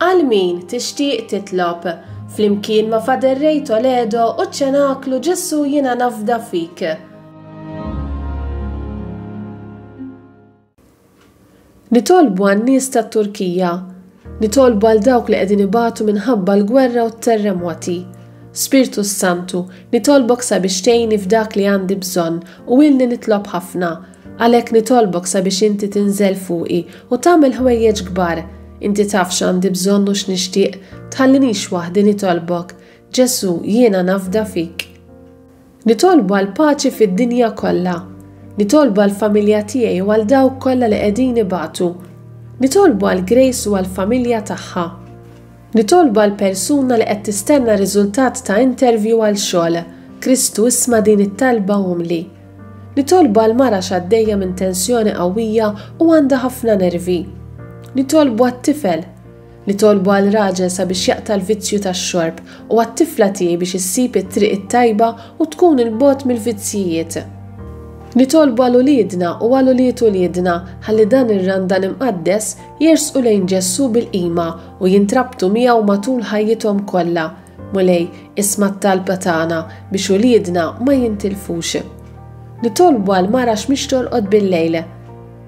Għal min tixtieq titlob, flimkien ma' Father Ray Toledo u ċ-Ċenaklu Ġesù Jiena Nafda Fik. Nitolbu għan-nies tat-Turkija. Nitolbu għal dawk li qegħdin ibatu minħabba l-gwerra u t-terremoti. Spirtu s-Santu, nitolbok sabiex tgħinni f'dak li għandi bżonn u ilni nitlob ħafna. Għalhekk nitolbok sabiex inti tinżel fuqi u tagħmel ħwejjeġ kbar. Inti taf x'għandi bżonn u x'nixtieq, tħallinix waħdi nitolbok. Ġesù, jiena nafda fik. Nitolbu għall-paċi fid-dinja kollha. Nitolbu għall-familja tiegħi u għal dawk kollha li qegħdin ibatu. Nitolbu għal Grace u għall-familja tagħha. Nitolbu għal persuna li qed tistenna riżultat ta' interview għal xogħol. Kristu isma' din it-talba umli. Nitolbu għal mara x'għaddejja minn tensjoni qawwija u għandha ħafna nervi. Nitolbu għat-tifel. Nitolbu għal raġel sabiex jaqta' l-vizzju tax-xorb u għat-tifla tiegħi biex issib it-triq it-tajba u tkun 'il bogħod mill-vizzjijiet. Nitolbu għal uliedna u għal ulied uliedna ħalli dan ir-Randan Imqaddes jersqu lejn Ġesù bil-qima u jintrabtu miegħu matul ħajjithom kollha. Mulej, isma' t-talba tagħna biex uliedna ma jintilfux. Nitolbu għal mara x'mhix torqod bil-lejl.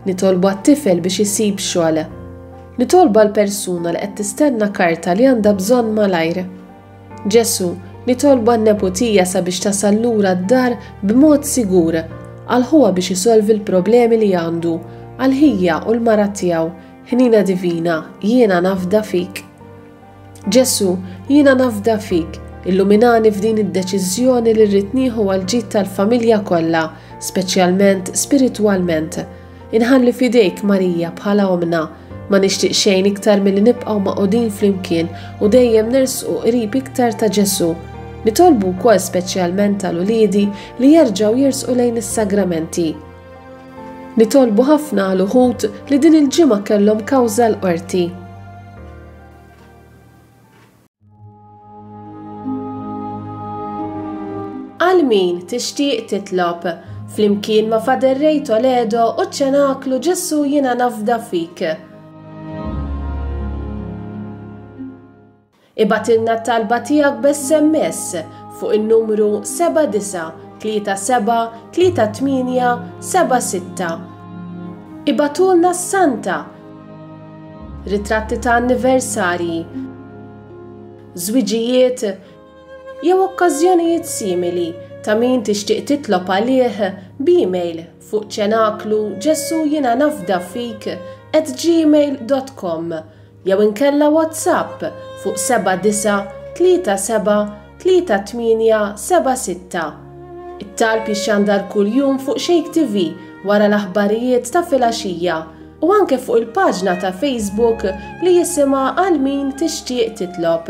Nitolbu għat-tifel biex isib xogħol. Nitolbu għal persuna li qed tistenna karta li għandha bżonn malajr. Ġesù, nitolbu għan-neputija sabiex tasal lura d-dar b'mod sigur, għal ħuha biex isolvi l-problemi li għandu, għal ħija u l-mara tiegħu. Ħniena divina, jiena nafda fik. Ġesù, jiena nafda fik, illuminani f'din id-deċiżjoni li rrid nieħu għall-ġid tal-familja kollha, speċjalment spiritwalment. Inħalli f'idejk Marija bħala ommna. Ma nixtieq xejn iktar milli nibqgħu magħqudin flimkien u dejjem nersqu qrib iktar ta' Ġesù. Nitolbu wkoll speċjalment għal uliedi li jerġgħu jersqu lejn is-sagramenti. Nitolbu ħafna għal uħud li din il-ġimgħa kellhom kawża l-qorti. Għal min tixtieq titlob, flimkien ma' Father Ray Toledo u ċ-Ċenaklu Ġesù Jiena Nafda Fik. Ibgħatilna t-talba tiegħek b'SMS fuq in-numru 7937 38 76. Ibgħatulna s-Santa ritratti ta' anniversarji, żwiġijiet jew okkażjonijiet simili ta' min tixtieq titlob għalih b'email fuq ċenaklu Ġesù jiena nafda fik at gmail dot com jew inkella WhatsApp fuq 7937 3876. It-talb jixxandar kuljum fuq Shake TV wara l-aħbarijiet ta' filgħaxija u anke fuq il-paġna ta' Facebook li jisimha Għal Min Tixtieq Titlob.